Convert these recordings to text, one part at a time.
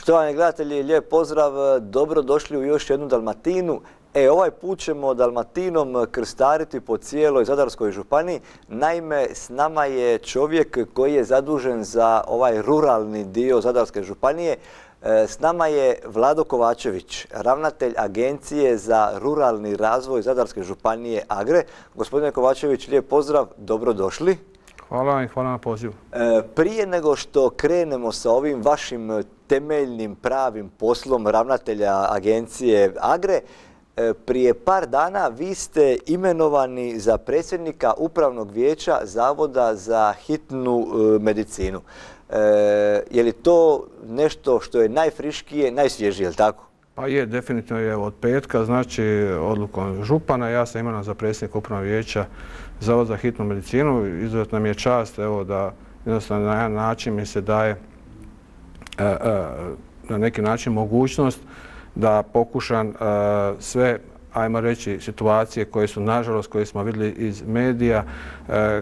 Štovani gledatelji, lijep pozdrav, dobrodošli u još jednu Dalmatinu. Ovaj put ćemo Dalmatinom krstariti po cijeloj Zadarskoj županiji. Naime, s nama je čovjek koji je zadužen za ovaj ruralni dio Zadarske županije. S nama je Vlado Kovačević, ravnatelj Agencije za ruralni razvoj Zadarske županije AGRE. Gospodine Kovačević, lijep pozdrav, dobrodošli. Hvala vam i hvala na pozivu. Prije nego što krenemo sa ovim vašim temeljnim pravim poslom ravnatelja Agencije AGRE, prije par dana vi ste imenovani za predsjednika Upravnog vijeća Zavoda za hitnu medicinu. Je li to nešto što je najfriškije, najsvježije, je li tako? Pa je, definitivno je od petka, znači odlukom župana. Ja sam imenovan za predsjednika Upravnog vijeća Zavoda za hitnu medicinu. Izuzetno mi je čast da jednostavno na jedan način mi se daje na neki način mogućnost da pokušam sve, ajmo reći, situacije koje su, nažalost, koje smo vidjeli iz medija,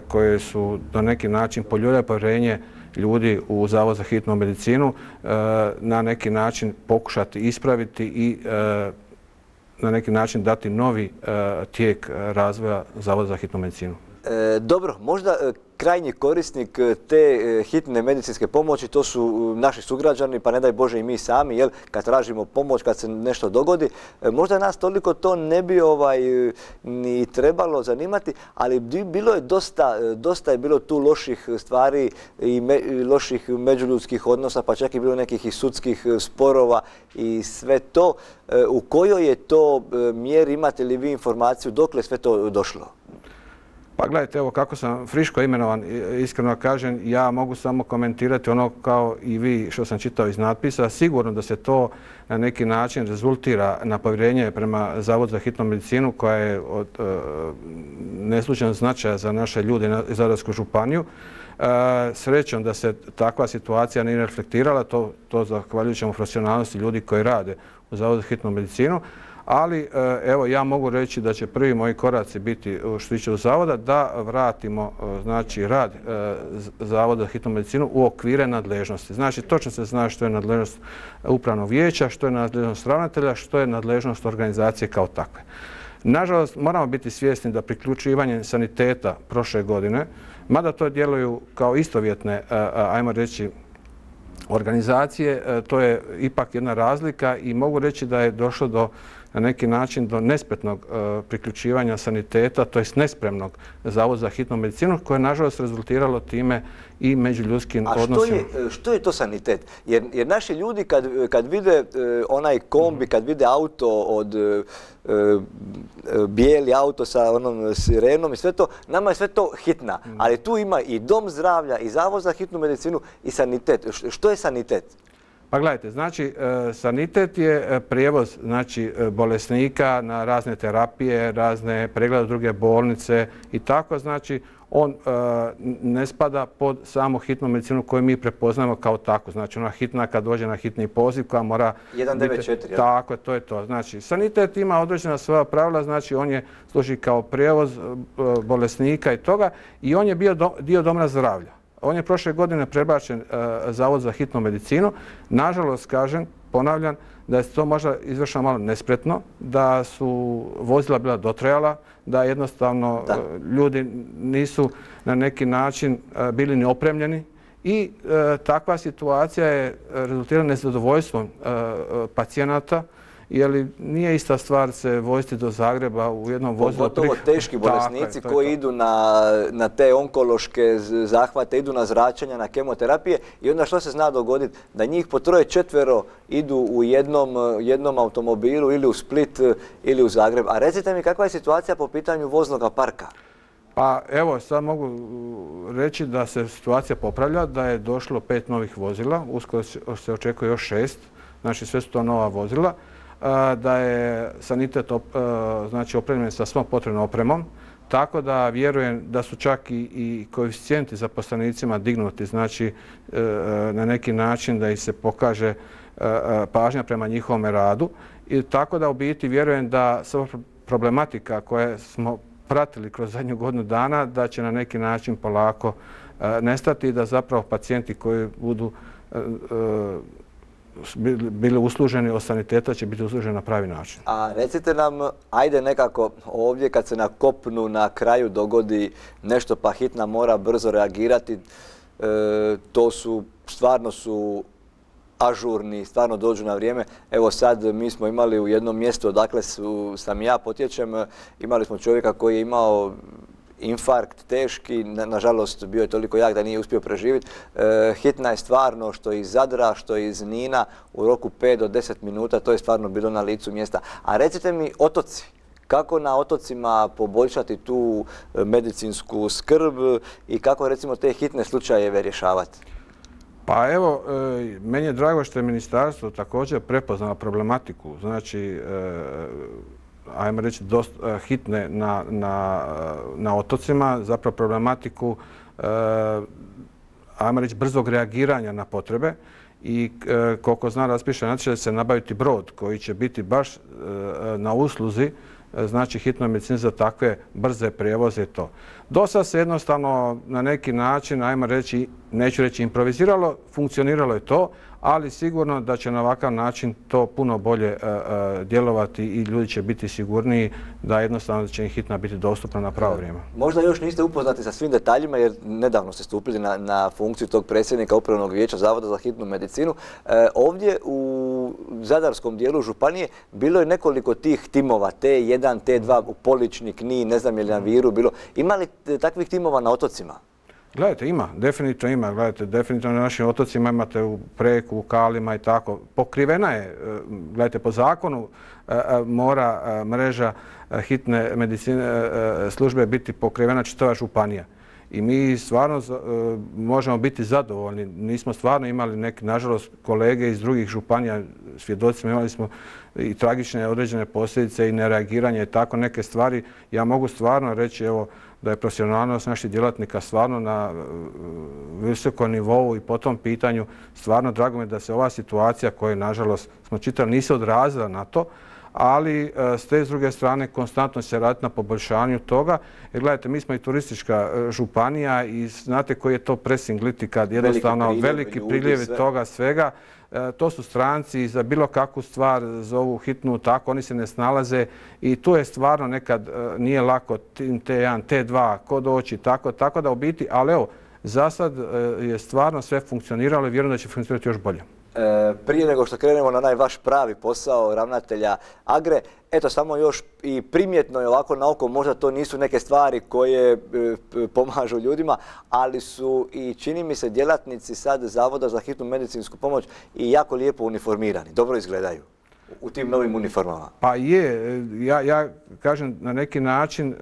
koje su na neki način poljuljale povjerenje ljudi u Zavod za hitnu medicinu, na neki način pokušati ispraviti i na neki način dati novi tijek razvoja Zavoda za hitnu medicinu. Dobro, možda krajnji korisnik te hitne medicinske pomoći, to su naši sugrađani, pa ne daj Bože i mi sami, jel, kad tražimo pomoć, kad se nešto dogodi. Možda nas toliko to ne bi ni trebalo zanimati, ali bilo je dosta je bilo tu loših stvari i loših međuljudskih odnosa, pa čak i bilo nekih i sudskih sporova i sve to. U kojoj je to mjeri, imate li vi informaciju dokle sve to došlo? Pa gledajte, evo kako sam friško imenovan, iskreno kažem, ja mogu samo komentirati ono kao i vi što sam čitao iz natpisa. Sigurno da se to na neki način rezultira na povjerenje prema Zavodu za hitnu medicinu koja je od neslučajnog značaja za naše ljude iz Zadarsku županiju. Srećom da se takva situacija nije reflektirala, to zahvaljujući profesionalnosti ljudi koji rade u Zavodu za hitnu medicinu. Ali evo ja mogu reći da će prvi moji koraci biti što se tiče Zavoda da vratimo znači rad Zavoda za hitnu medicinu u okvire nadležnosti. Znači točno se zna što je nadležnost Upravnog vijeća, što je nadležnost ravnatelja, što je nadležnost organizacije kao takve. Nažalost, moramo biti svjesni da priključivanje saniteta prošle godine, mada to djeluju kao istovjetne, ajmo reći, organizacije, to je ipak jedna razlika i mogu reći da je došlo na neki način do nespretnog priključivanja saniteta, to jest nespremnog Zavoda za hitnu medicinu, koje je nažalost rezultiralo time i međuljudskim odnosima. A što je to sanitet? Jer naši ljudi kad vide onaj kombi, kad vide auto od bijeli auto sa onom sirenom i sve to, nama je sve to hitna. Ali tu ima i dom zdravlja, i Zavod za hitnu medicinu i sanitet. Što je sanitet? Pa gledajte, znači sanitet je prijevoz bolesnika na razne terapije, razne preglede u druge bolnice i tako, znači on ne spada pod samu hitnu medicinu koju mi prepoznamo kao tako. Znači ona hitna kad dođe na hitni poziv koja mora 194. Tako, to je to. Znači sanitet ima određena svoja pravila, znači on je služi kao prijevoz bolesnika i toga i on je bio dio doma zdravlja. On je prošle godine prebačen Zavod za hitnu medicinu. Nažalost, kažem, ponavljam, da je to možda izvršeno malo nespretno, da su vozila bila dotrajala, da jednostavno ljudi nisu na neki način bili ni opremljeni i takva situacija je rezultirala nezadovoljstvom pacijenata, jer nije ista stvar se voziti do Zagreba u jednom vozilu. Pogotovo teški bolesnici koji idu na te onkološke zahvate, idu na zračenja, na kemoterapije i onda što se zna dogoditi? Da njih po troje, četvero idu u jednom automobilu ili u Split ili u Zagreb. A recite mi kakva je situacija po pitanju voznog parka? Pa evo, sad mogu reći da se situacija popravlja, da je došlo 5 novih vozila, uskoro se očekuje još 6, znači sve su to nova vozila. Da je sanitet opremljen sa svom potrebnom opremom, tako da vjerujem da su čak i koeficijenti zaposlenicima dignuti, znači na neki način da ih se pokaže pažnja prema njihovom radu. I tako da u biti vjerujem da sva problematika koje smo pratili kroz zadnju godinu dana, da će na neki način polako nestati i da zapravo pacijenti koji budu bili usluženi od saniteta će biti usluženi na pravi način. A recite nam, ajde nekako ovdje kad se na kopnu na kraju dogodi nešto pa hitna mora brzo reagirati, to su, stvarno su ažurni, stvarno dođu na vrijeme. Evo sad mi smo imali u jednom mjestu odakle sam ja potječem, imali smo čovjeka koji je imao infarkt teški, nažalost bio je toliko jak da nije uspio preživjeti. Hitna je stvarno što iz Zadra, što iz Nina u roku 5 do 10 minuta, to je stvarno bilo na licu mjesta. A recite mi otoci, kako na otocima poboljšati tu medicinsku skrb i kako recimo te hitne slučajeve rješavati? Pa evo, meni je drago što je ministarstvo također prepoznalo problematiku, znači ajmo reći hitne na otocima, zapravo problematiku ajmo reći brzog reagiranja na potrebe i koliko znam raspiše natječaj da se nabaviti brod koji će biti baš na usluzi znači hitnoj medicini za takve brze prijevoze i to. Do sad se jednostavno na neki način, ajmo reći, neću reći improviziralo, funkcioniralo je to, ali sigurno da će na ovakav način to puno bolje djelovati i ljudi će biti sigurniji da jednostavno će im hitna biti dostupna na pravo vrijeme. Možda još niste upoznati sa svim detaljima jer nedavno ste stupili na funkciju tog predsjednika Upravnog vijeća Zavoda za hitnu medicinu. Ovdje u zadarskom dijelu županije bilo je nekoliko tih timova, T1, T2, u Poličnik, Knin, ne znam je li na Viru bilo. Ima li takvih timova na otocima? Gledajte, ima, definitivno ima. Gledajte, definitivno na našim otocima imate u Preku, u Kalima i tako. Pokrivena je, gledajte, po zakonu mora mreža hitne medicine službe biti pokrivena čitava županija. I mi stvarno možemo biti zadovoljni. Nismo stvarno imali neki, nažalost, kolege iz drugih županija, svjedocima imali smo i tragične određene posljedice i nereagiranje i tako neke stvari. Ja mogu stvarno reći, evo, da je profesionalnost naših djelatnika stvarno na visokom nivou i po tom pitanju stvarno drago mi je da se ova situacija koja, nažalost, smo čitali, nije se odrazila na to, ali s te druge strane konstantno se radi na poboljšanju toga. Jer gledajte, mi smo i turistička županija i znate koji je to pressing liti kad jednostavno veliki priljevi toga svega. To su stranci za bilo kakvu stvar zovu hitnu, tako oni se ne snalaze i tu je stvarno nekad nije lako T1, T2, ko doći, tako da u biti, ali evo, za sad je stvarno sve funkcioniralo i vjerujem da će funkcionirati još bolje. Prije nego što krenemo na onaj vaš pravi posao ravnatelja Agre, eto samo još i primjetno je ovako na oko, možda to nisu neke stvari koje pomažu ljudima, ali su i čini mi se djelatnici sad Zavoda za hitnu medicinsku pomoć i jako lijepo uniformirani, dobro izgledaju u tim novim uniformama. Pa je, ja kažem na neki način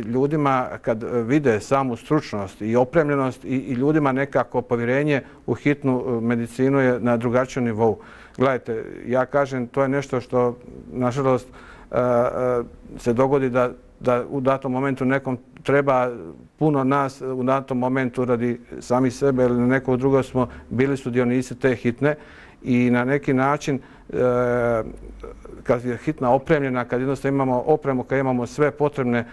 ljudima kad vide samu stručnost i opremljenost i ljudima nekako povjerenje u hitnu medicinu je na drugačijem nivou. Gledajte, ja kažem to je nešto što nažalost se dogodi da u datom momentu nekom treba puno nas u datom momentu radi sami sebe ili nekog drugog smo bili sudionici te hitne i na neki način kad je hitna opremljena, kad jednostavno imamo opremu, kad imamo sve potrebne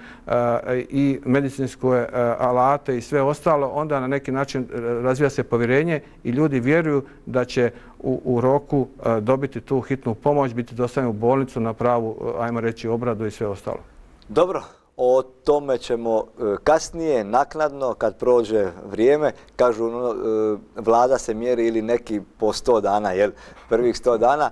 i medicinske alate i sve ostalo, onda na neki način razvija se povjerenje i ljudi vjeruju da će u roku dobiti tu hitnu pomoć, biti dostavljeni u bolnicu na pravu, ajmo reći, obradu i sve ostalo. Dobro. O tome ćemo kasnije, naknadno, kad prođe vrijeme. Kažu, vlada se mjeri ili neki po 100 dana, jel? Prvih 100 dana.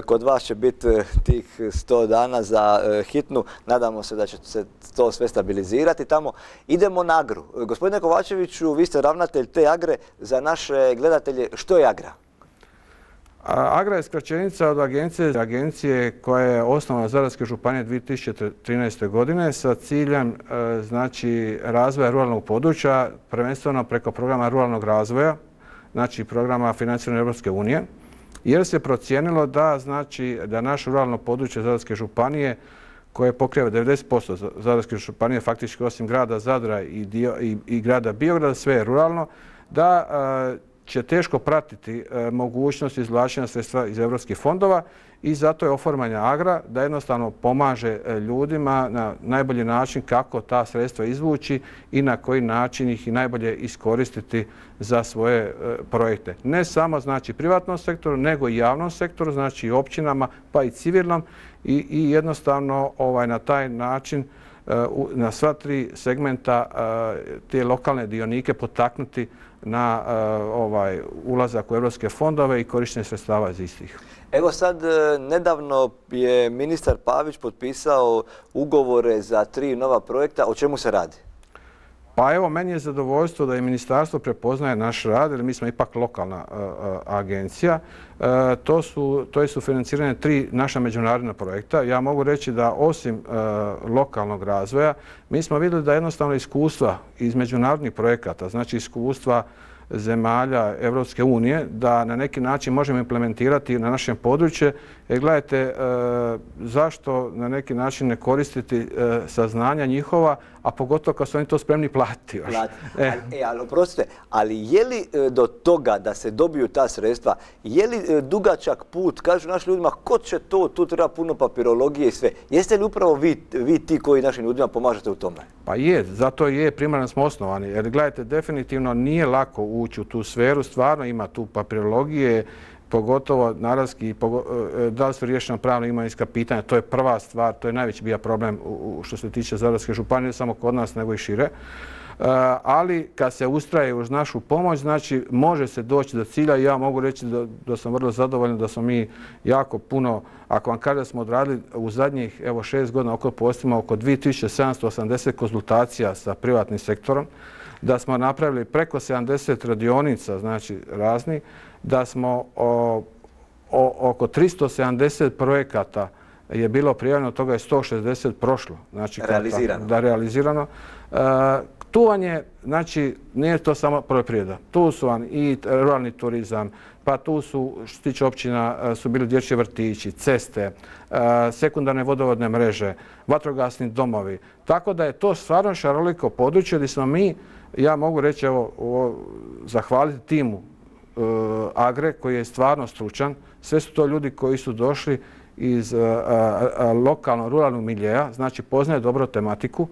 Kod vas će biti tih 100 dana za hitnu. Nadamo se da će se to sve stabilizirati tamo. Idemo na Agru. Gospodine Kovačeviću, vi ste ravnatelj te Agre. Za naše gledatelje, što je Agra? Agra je skraćenica od agencije koja je osnovana Zadarske županije 2013. godine sa ciljem znači, razvoja ruralnog područja, prvenstveno preko programa ruralnog razvoja, znači programa financiranja Europske unije, jer se procijenilo da, znači, da naše ruralno područje Zadarske županije koje pokriva 90% Zadarske županije, faktički osim grada Zadra i grada Biograda, sve je ruralno, da će teško pratiti mogućnost izvlačenja sredstva iz europskih fondova i zato je oformanje Agra da jednostavno pomaže ljudima na najbolji način kako ta sredstva izvući i na koji način ih i najbolje iskoristiti za svoje projekte. Ne samo znači privatnom sektoru, nego i javnom sektoru, znači i općinama pa i civilnom i jednostavno na taj način na sva tri segmenta te lokalne dionike potaknuti na ulazak u europske fondove i korištenje sredstava iz istih. Evo sad, nedavno je ministar Pavić potpisao ugovore za 3 nova projekta. O čemu se radi? Pa evo, meni je zadovoljstvo da i ministarstvo prepoznaje naš rad, jer mi smo ipak lokalna agencija. To su financirane 3 naša međunarodna projekta. Ja mogu reći da osim lokalnog razvoja, mi smo vidjeli da jednostavno iskustva iz međunarodnih projekata, znači iskustva zemalja Evropske unije, da na neki način možemo implementirati na našem području. Jer gledajte, zašto na neki način ne koristiti saznanja njihova, a pogotovo kad su oni to spremni platiti. Ali oprostite, ali je li do toga da se dobiju ta sredstva, je li dugačak put, kažu našim ljudima, ko će to, tu treba puno papirologije i sve. Jeste li upravo vi ti koji našim ljudima pomažete u tome? Pa je, zato je, primarno smo osnovani. Jer gledajte, definitivno nije lako ući u tu sferu, stvarno ima tu papirologije, pogotovo naravski, da li su riješena pravna imovinska pitanja, to je prva stvar, to je najveći bio problem što se tiče Zadarske županije, ne samo kod nas nego i šire. Ali kad se ustraje uz našu pomoć, znači može se doći do cilja i ja mogu reći da sam vrlo zadovoljan da smo mi jako puno, ako vam kažem da smo odradili u zadnjih 6 godina oko 2780 konzultacija sa privatnim sektorom, da smo napravili preko 70 radionica, znači raznih, da smo oko 370 projekata je bilo prijavljeno, od toga je 160 prošlo. Znači, realizirano. Tu vam je, znači, nije to samo poljoprivreda. Tu su vam i ruralni turizam, pa tu su, što se tiče općina, su bili dječji vrtići, ceste, sekundarne vodovodne mreže, vatrogasni domovi. Tako da je to stvarno šaroliko područje gdje smo mi, ja mogu reći, evo, zahvaliti timu Agre koji je stvarno stručan. Sve su to ljudi koji su došli iz lokalno-ruralnog miljeja, znači poznaje dobro tematiku,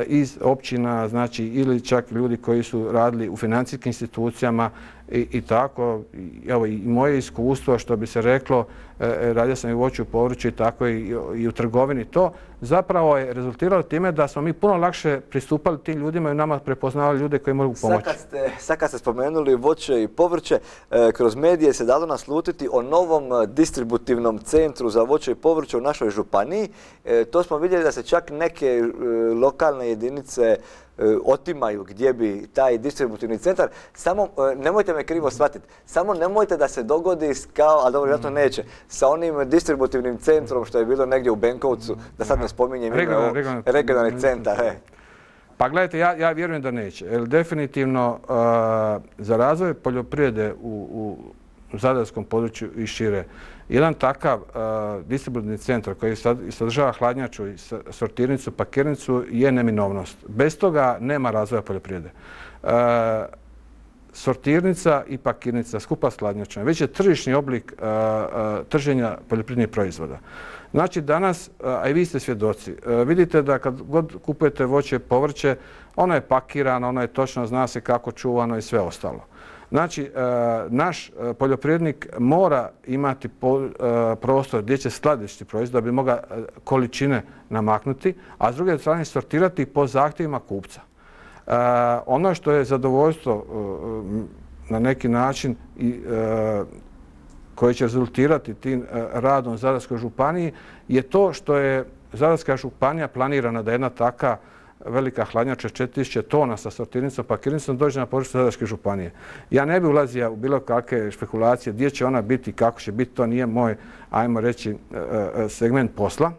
iz općina, znači ili čak ljudi koji su radili u financijskim institucijama i tako. Evo i moje iskustvo, što bi se reklo, radio sam i u voću, povrću i tako i u trgovini, to zapravo je rezultiralo time da smo mi puno lakše pristupali tim ljudima i nama prepoznavali ljude koji mogu pomoći. Sad kad ste spomenuli voće i povrće, kroz medije se dalo naslutiti o novom distributivnom centru za voće i povrće u našoj županiji. To smo vidjeli da se čak neke lokalne jedinice otimaju gdje bi taj distributivni centar. Samo, nemojte me krivo shvatiti, samo nemojte da se dogodi kao, a dobro, vjerojatno neće, sa onim distributivnim centrom što je bilo negdje u Benkovcu, da sad ne spominjem regionalni centar. Pa gledajte, ja vjerujem da neće. Jer definitivno za razvoj poljoprivrede u zadarskom području i šire, jedan takav distributivni centar koji sadržava hladnjaču i sortirnicu, pakirnicu je neminovnost. Bez toga nema razvoja poljoprivrede. Sortirnica i pakirnica skupa s hladnjačom već je tržišni oblik trženja poljoprivrednih proizvoda. Znači danas, a i vi ste svjedoci, vidite da kad god kupujete voće i povrće, ono je pakirano, ono je točno, zna se kako čuvano i sve ostalo. Znači, naš poljoprivrednik mora imati prostor gdje će skladištiti proizvod da bi mogao količine namaknuti, a s druge strane sortirati po zahtjevima kupca. Ono što je zadovoljstvo na neki način koje će rezultirati tim radom Zadarskoj županiji je to što je Zadarska županija planirana da jedna taka velika hladnjača 4000 tona sa sortirnicom, pakirnicom dođe na područje Zadarske županije. Ja ne bih ulazio u bilo kakve špekulacije gdje će ona biti, kako će biti, to nije moj, ajmo reći, segment posla.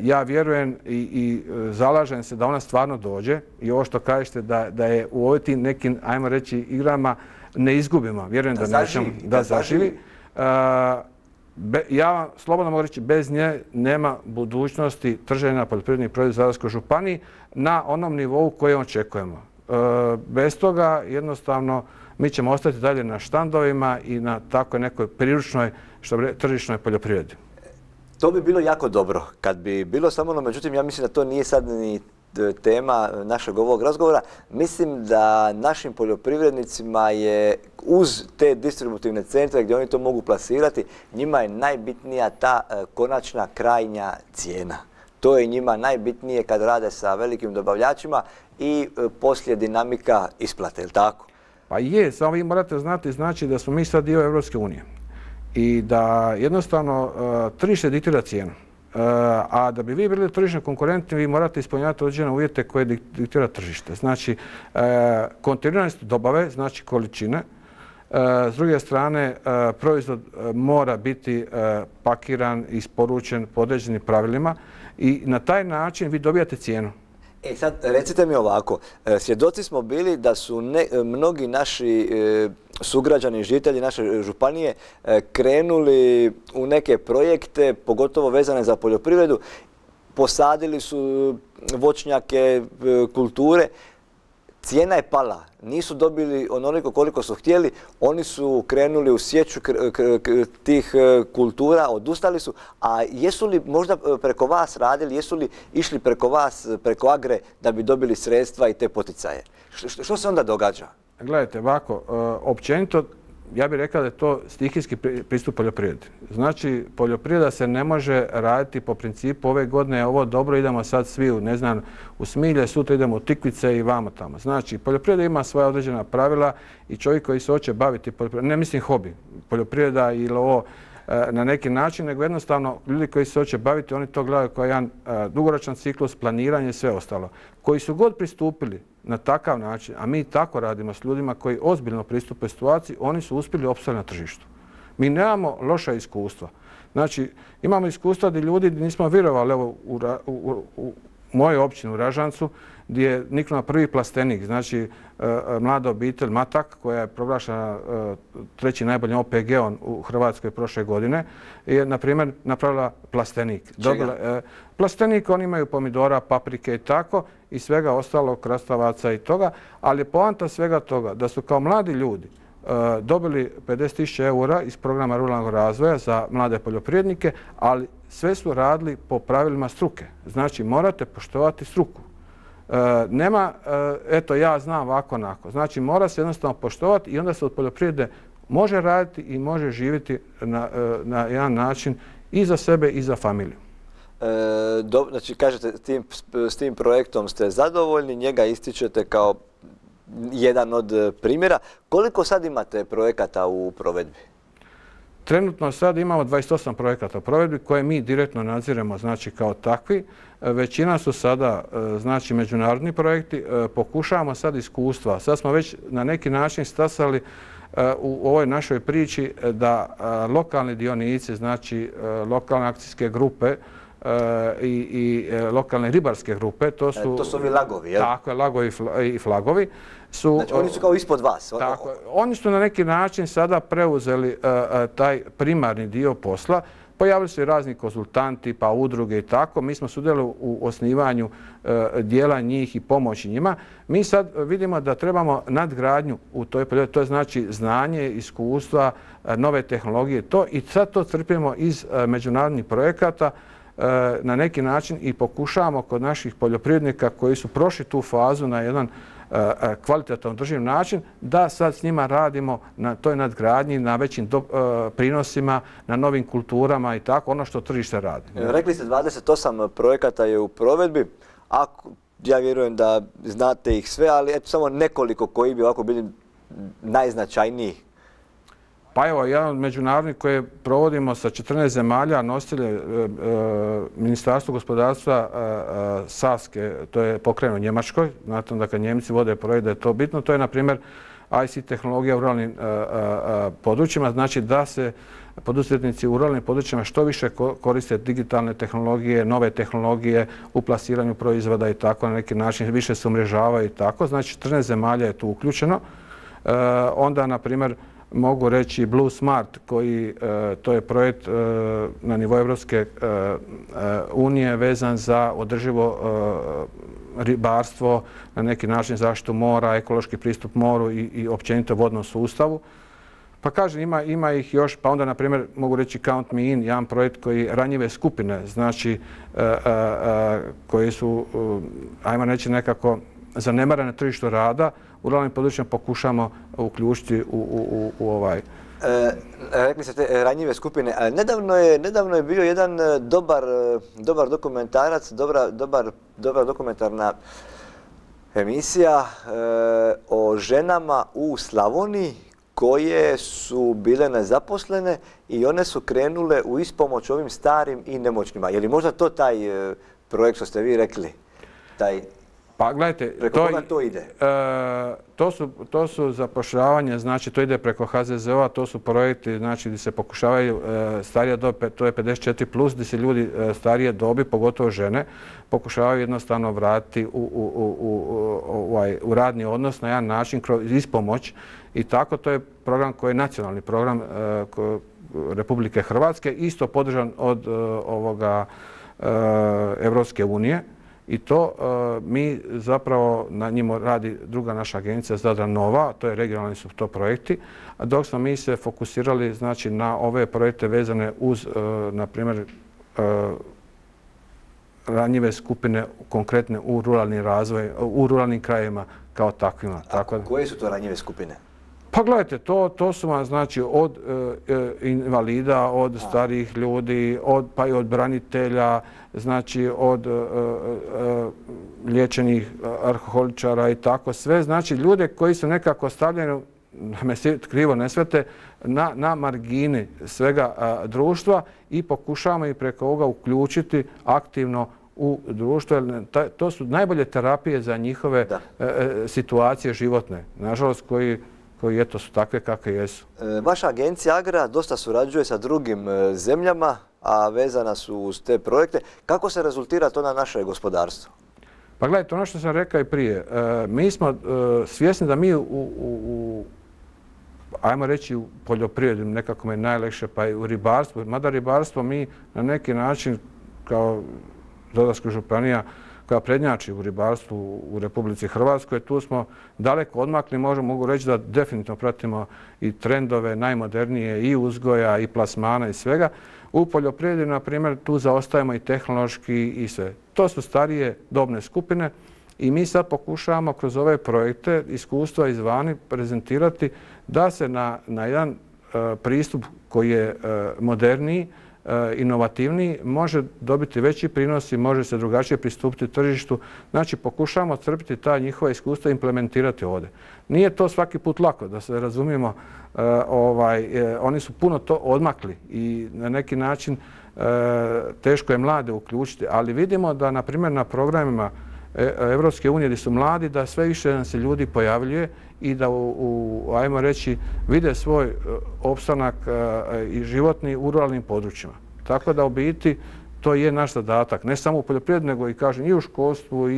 Ja vjerujem i zalažem se da ona stvarno dođe i ovo što kažete da je u ovim tim nekim, ajmo reći, igrama ne izgubimo. Vjerujem da zaživi. Ja vam slobodno mogu reći, bez nje nema budućnosti trženja poljoprivrednih proizvoda u Zadarskoj županiji na onom nivou koje očekujemo. Bez toga jednostavno mi ćemo ostati dalje na štandovima i na takvoj nekoj priručnoj, tržišnoj poljoprivredi. To bi bilo jako dobro kad bi bilo samo ono, međutim ja mislim da to nije sad ni tema našeg ovog razgovora. Mislim da našim poljoprivrednicima je uz te distributivne centre gdje oni to mogu plasirati, njima je najbitnija ta konačna krajnja cijena. To je njima najbitnije kad rade sa velikim dobavljačima i poslije dinamika isplate, je li tako? Pa je, samo vi morate znati, znači da smo mi sad dio Europske unije i da jednostavno tržište diktira cijenu. A da bi vi bili tržišno konkurentni, vi morate ispunjavati određene uvjete koje diktira tržište. Znači, kontinuiranost dobave, znači količine. S druge strane, proizvod mora biti pakiran, isporučen po određenim pravilima i na taj način vi dobijate cijenu. Sad recite mi ovako, svjedoci smo bili da su mnogi naši sugrađani, žitelji naše županije krenuli u neke projekte, pogotovo vezane za poljoprivredu, posadili su voćnjake, kulture, cijena je pala, nisu dobili onoliko koliko su htjeli, oni su krenuli u sječu tih kultura, odustali su, a jesu li možda preko vas radili, jesu li išli preko vas, preko Agre da bi dobili sredstva i te poticaje? Što se onda događa? Gledajte, ovako, općenito ja bih rekao da je to stihijski pristup poljoprivredi. Znači, poljoprivreda se ne može raditi po principu ove godine je ovo dobro, idemo sad svi u Smilje, sutra idemo u Tikvice i vamo tamo. Znači, poljoprivreda ima svoja određena pravila i čovjek koji se hoće baviti poljoprivredom, ne mislim hobi, poljoprivreda ili ovo na neki način, nego jednostavno ljudi koji se hoće baviti, oni to gledaju kao jedan dugoročan ciklus, planiranje i sve ostalo. Koji su god pristupili na takav način, a mi tako radimo s ljudima koji ozbiljno pristupe situaciji, oni su uspjeli opstati na tržištu. Mi nemamo loša iskustva. Znači, imamo iskustva gdje ljudi nismo vjerovali, evo u mojoj općini u Ražancu, gdje je niknuo prvi plastenik, znači mlada obitelj Matak, koja je proglašena treći najboljim OPG-om u Hrvatskoj prošle godine, je, na primjer, napravila plastenik. Plastenik, oni imaju pomidora, paprike i tako, i svega ostalo, krastavaca i toga, ali je poanta svega toga da su kao mladi ljudi dobili 50.000 eura iz programa ruralnog razvoja za mlade poljoprivrednike, ali sve su radili po pravilima struke. Znači, morate poštovati struku. Nema, eto, ja znam ovako onako. Znači, mora se jednostavno poštovati i onda se od poljoprivrede može raditi i može živjeti na jedan način i za sebe i za familiju. Znači, kažete, s tim projektom ste zadovoljni, njega ističete kao jedan od primjera. Koliko sad imate projekata u provedbi? Trenutno sad imamo 28 projekata u provedbi koje mi direktno nadziremo, znači kao takvi. Većina su sada, znači, međunarodni projekti. Pokušavamo sad iskustva. Sad smo već na neki način stasali u ovoj našoj priči da lokalni dionici, znači lokalne akcijske grupe i lokalne ribarske grupe, to su ovi lagovi, jel? Tako je, lagovi i flagovi. Znači, oni su kao ispod vas. Tako, oni su na neki način sada preuzeli taj primarni dio posla. Pojavili su i razni konzultanti, pa udruge i tako. Mi smo sudjelovali u osnivanju dijela njih i pomoći njima. Mi sad vidimo da trebamo nadgradnju u toj poljoprivredi, to je znači znanje, iskustva, nove tehnologije, i sad to crpimo iz međunarodnih projekata na neki način i pokušavamo kod naših poljoprivrednika koji su prošli tu fazu na jedan kvalitetan održiv način, da sad s njima radimo na toj nadgradnji, na većim prinosima, na novim kulturama i tako, ono što tržište radi. Rekli ste 28 projekata je u provedbi, ja vjerujem da znate ih sve, ali eto samo nekoliko koji bi ovako bili najznačajniji. Pa evo, jedan od međunarodnih koje provodimo sa 14 zemalja, nositelje Ministarstvo gospodarstva Saske, to je pokrenuo u Njemačkoj, znate da kad Njemci vode projekt da je to bitno, to je na primjer ICT tehnologija u ruralnim područjima, znači da se poduzetnici u ruralnim područjima što više koriste digitalne tehnologije, nove tehnologije u plasiranju proizvoda i tako, na neki način više se umrežavaju i tako, znači 14 zemalja je tu uključeno. Onda, na primjer, mogu reći Blue Smart, to je projekt na nivou Evropske unije vezan za održivo ribarstvo, na neki način zaštitu mora, ekološki pristup moru i općenito vodnom sustavu. Pa kažem, ima ih još, pa onda, na primjer, mogu reći Count Me In, jedan projekt koji ranjive skupine, znači, koji su, ajmo reći, nekako zanemarene na tržištu rada, u ruralnim područjima pokušamo uključiti u ovaj. Rekli ste te ranjive skupine. Nedavno je bio jedan dobar dokumentarac, dobra dokumentarna emisija o ženama u Slavoniji koje su bile nezaposlene i one su krenule u ispomoć ovim starim i nemoćnima. Je li možda to taj projekt što ste vi rekli? Pa gledajte, preko koga to ide? To su zapošljavanje, znači to ide preko HZZO-a, to su projekti znači gdje se pokušavaju starija dob, to je 54+, gdje se ljudi starije dobi, pogotovo žene, pokušavaju jednostavno vratiti u radni odnos na jedan način kroz ispomoć i tako. To je program koji je nacionalni program Republike Hrvatske, isto podržan od Evropske unije. I to mi zapravo na njima radi druga naša agencija Zadra Nova, to je regionalni su to projekti, dok smo mi se fokusirali znači na ove projekte vezane uz, na primjer, ranjive skupine konkretne u ruralni razvoj, u ruralnim krajevima kao takvima. Koje su to ranjive skupine? Pa gledajte, to su vam znači od invalida, od starijih ljudi, pa i od branitelja, znači od liječenih alkoholičara i tako sve. Znači ljude koji su nekako stavljeni, da me krivo ne shvate, na margini svega društva i pokušavamo i preko ovoga uključiti aktivno u društvo. To su najbolje terapije za njihove situacije životne. Nažalost, koji eto su takve kakve jesu. Vaša agencija Agra dosta surađuje sa drugim zemljama, a vezana su uz te projekte. Kako se rezultira to na naše gospodarstvo? Pa gledajte, ono što sam rekao i prije, mi smo svjesni da mi ajmo reći u poljoprivredi, nekako je najlakše, pa i u ribarstvu, mada ribarstvo mi na neki način kao Zadarska županija koja prednjači u ribarstvu u Republici Hrvatskoj. Tu smo daleko odmakli, mogu reći da definitivno pratimo i trendove najmodernije i uzgoja i plasmana i svega. U poljoprivredi, na primjer, tu zaostajemo i tehnološki i sve. To su starije dobne skupine i mi sad pokušavamo kroz ove projekte iskustva izvani prezentirati da se na jedan pristup koji je moderniji, inovativniji, može dobiti veći prinos i može se drugačije pristupiti tržištu. Znači, pokušavamo crpiti ta njihova iskustva i implementirati ovdje. Nije to svaki put lako, da se razumijemo. Oni su puno to odmakli i na neki način teško je mlade uključiti, ali vidimo da, na primjer, na programima Evropske unije gdje su mladi, da sve više nam se ljudi pojavljuje i da, ajmo reći, vide svoj opstanak i životni u ruralnim područjima. Tako da u biti to je naš zadatak, ne samo u poljoprivredi, nego i, kažem, i u školstvu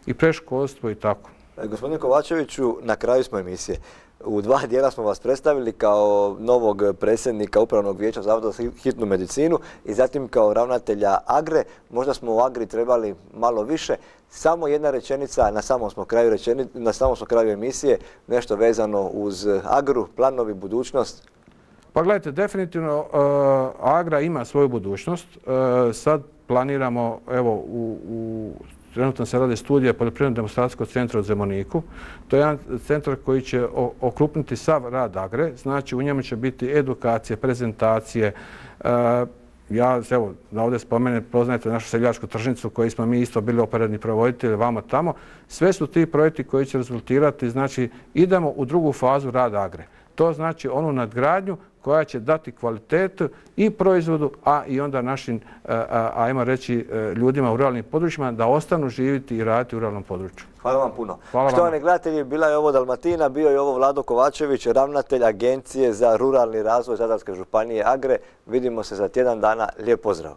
i predškolstvu i tako. Gospodine Kovačeviću, na kraju smo emisije. U 2 dijela smo vas predstavili kao novog predsjednika Upravnog vijeća Zavoda za hitnu medicinu i zatim kao ravnatelja Agre. Možda smo u Agri trebali malo više. Samo jedna rečenica, na samom smo kraju emisije, nešto vezano uz Agru, planovi, budućnost. Pa gledajte, definitivno Agra ima svoju budućnost. Sad planiramo, evo, trenutno se rade studije Poljoprivredno demonstracijskog centra u Zemuniku. To je jedan centar koji će okrupniti sav rad Agre. Znači, u njemu će biti edukacije, prezentacije. Ja, evo, da ovdje spomenem, poznajete našu seljačku tržnicu koju smo mi isto bili operativni provoditelji vamo tamo. Sve su ti projekti koji će rezultirati, znači, idemo u drugu fazu rada Agre. To znači onu nadgradnju koja će dati kvalitetu i proizvodu, a i onda našim, ajmo reći, ljudima u ruralnim područjima da ostanu živjeti i raditi u ruralnom području. Hvala vam puno. Štovani gledatelji, bila je ovo Dalmatina, bio je ovo Vlado Kovačević, ravnatelj Agencije za ruralni razvoj Zadarske županije Agre. Vidimo se za tjedan dana. Lijep pozdrav.